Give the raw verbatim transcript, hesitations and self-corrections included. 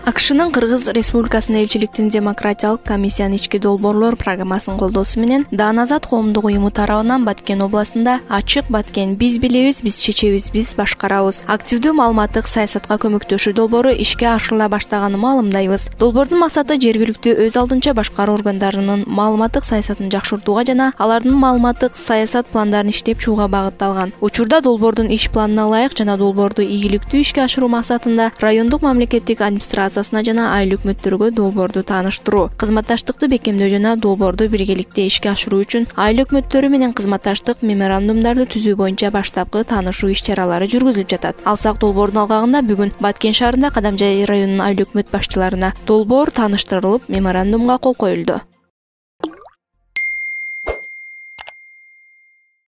АКШнын Кыргыз Республикасынын элчиликтин демократиялык комиссиянын ички долбоорлор программасынын колдоосу менен Даан Азат коомдук уюму тарабынан Баткен областында ачык Баткен биз билебиз, биз чечебиз, биз башкарабыз активдүү маалыматтык саясатка көмөктөшүү долбоору ишке ашырыла баштаганын маалымдайбыз. Долбоордун максаты жергиликтүү өз алдынча башкаруу органдарынын маалыматтык саясатын жакшыртууга жана алардын маалыматтык саясат пландарын иштеп чыгууга багытталган. Учурда долбоордун иш планына ылайык жана долбоорду ийгиликтүү ишке ашыруу максатында райондук мамлекеттик администрация жана айыл өкмөттөргө долбоорду тааныштыруу, кызматташтыкты бекемдөө жана долбоорду биргеликте ишке ашыруу үчүн айыл өкмөттөрү менен кызматташтык меморандумдарды түзүү боюнча баштапкы таанышуу иш-чаралары жүргүзүлүп жатат. Алсак долбоордун алгагында бүгүн Баткен шаарында Кадамжай районунун айыл өкмөт башчыларына долбоор тааныштырылып, меморандумга кол коюлду.